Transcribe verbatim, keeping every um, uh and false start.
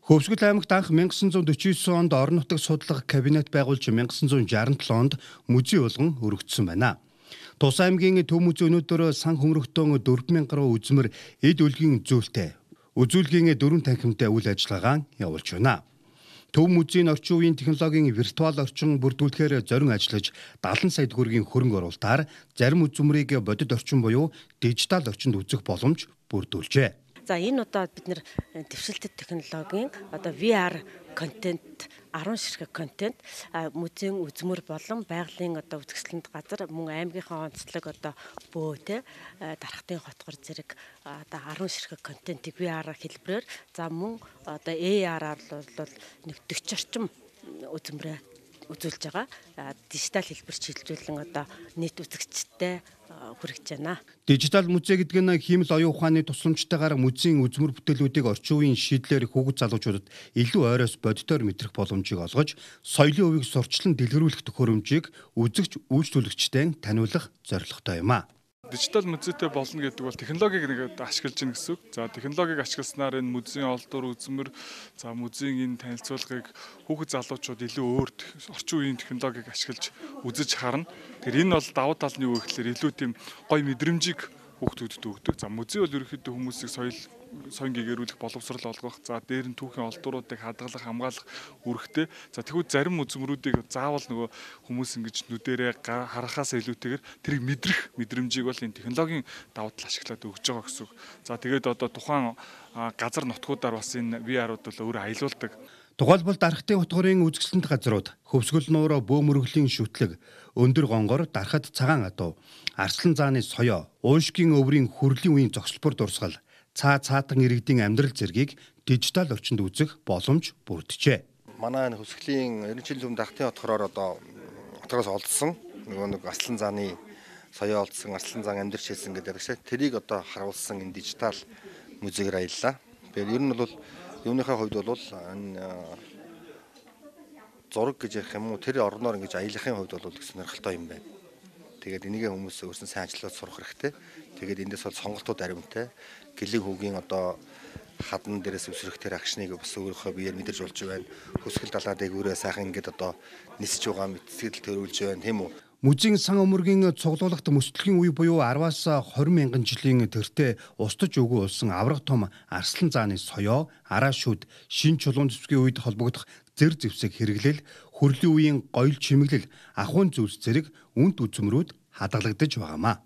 Хөвсгөл аймагт анх 천구 사십구 онд орон нутаг судлах кабинет байгуулж 천구 шестьдесят онд музей болгон өргөцсөн байна. Тус аймгийн төв музей өнөөдөр сан хөмрөгтөн дөрвөн мянган гаруй үзмэр эд өлгийн зүйлтэй үзүүлгийн дөрвөн танхимтай үйл ажиллагаа явуулж байна. Төв музейн орчин үеийн технологийн виртуал орчин бүрдүүлэхээр зорин ажиллаж дагалан сая төгрөгийн хөрөнгө оруулалтаар зарим үзмэрийг бодит орчин буюу дижитал орчинд үзэх боломж бүрдүүлжээ. За энэ одоо бид нэр дэвшилтэт технологийн одоо ви ар контент арван ширхэг контент музейн үзмөр болон байгалийн одоо үзэсгэлэнт газар мөн аймгийнхаа онцлог одоо бөө те дарахтын хотгор зэрэг одоо арван ширхэг контентыг ви ар хэлбэрээр за мөн одоо эй ар-аар бол нэг дөрвөн орчим үзмрээ үзүүлж байгаа. Дижитал хэлбэр чиглүүлэн одоо нийт үзэгчтэй хүргэж байна. Дижитал музей гэдэг нь хиймэл оюун ухааны тусламжтайгаар музейн үзмэр бүтээлүүдийг орчин үеийн шийдлэр хүүхэд залуучуудад илүү ойроос бодитоор мэдрэх боломжийг олгож, соёлын хувийг сурчлан дэлгэрүүлэх төхөөрөмжийг үзэгч үйлчлүүлэгчтэй таниулах зорилготой юм а. Дижитал музейтэй болно гэдэг бол технологиг нэг ашиглаж гин гэсэн үг. За технологиг ашигласнаар энэ музейн олдвор үзмэр, за музейн энэ танилцуулгыг хүүхэд залуучууд илүү өөр орчин үеийн технологиг ашиглаж үзэж харна. Тэр энэ бол давуу тал нь юу гэхээр илүү тийм гоё мэдрэмжийг хүүхдүүдэд өгдөг. За музей бол ерөнхийдөө хүмүүсийг соёл соён гэгэрүүлэх боловсрал олгох, за дээр нь түүхийн олдвруудыг хадгалах, хамгаалах үүрэгтэй. За тэгвэл зарим үзмрүүдийг заавал нөгөө хүмүүс ингэж нүдэрээ харахаас илүүтэйгээр тэрийг мэдрэх мэдрэмжийг бол энэ технологийн давуу тал ашиглаад өгж байгаа гэсэн үг. За тэгээд одоо тухайн газар нутгуудаар бас энэ ви ар-ууд бол өөрөө аялуулдаг. Тухайлбал дарахтын хотгорын үзэсгэлэнт газрууд, хөвсгөл нуур, бөө мөргөлийн шүтлэг, өндөр гонгор, дарахад цагаан адуу, арслан зааны соёо, уушгийн өврийн хүрлийн үеийн зогсолбор дурсгал, цаа цаатан иргэдийн амьдрал зэргийг дижитал орчинд үзэх боломж бүрджээ. Манай энэ хөвсгөлийн ерөнхий зөв дарахтын хотгороор одоо хотгороос олдсон нөгөө нэг арслан зааны соёо олдсон, арслан заан амьдарч хэлсэн гэдэг шиг тэрийг одоо харуулсан энэ дижитал музейгээр аяллаа. Тэгэхээр ер нь бол юуныхаа хувьд бол энэ зураг гэж ярих юм уу тэр орноор ингэж аялахын хувьд бол их сонирхолтой юм байна. Тэгээд энийгээ хүмүүс өөрсдөө сайн ажиллаад сурах хэрэгтэй. Тэгээд эндээс бол сонголтууд аримтай. Гэлэг хүүгийн одоо хадан дээрээс өсрөх тэр агшныг бас өөрийнхөө биеэр мэдэрч болж байна. Хөсгөл далаад эгүүрээ сайхан ингэж одоо нисэж байгаа мэдсэл төрүүлж байна тийм үү. Музейн сан өмөргийн цуглуулгад мөстлөгийн үе буюу араваас хорин мянган жилийн тэртээ устж өгөө улсан авраг том арслан зааны соёо, араашууд, шин чулуун зүсгийн үед холбогдох зэр зэвсэг хэрэглэл, хүрлийн үеийн гоёл чимэглэл, ахуйн зүйлс зэрэг үнэт үзмрүүд хадгалагдаж байгаамаа.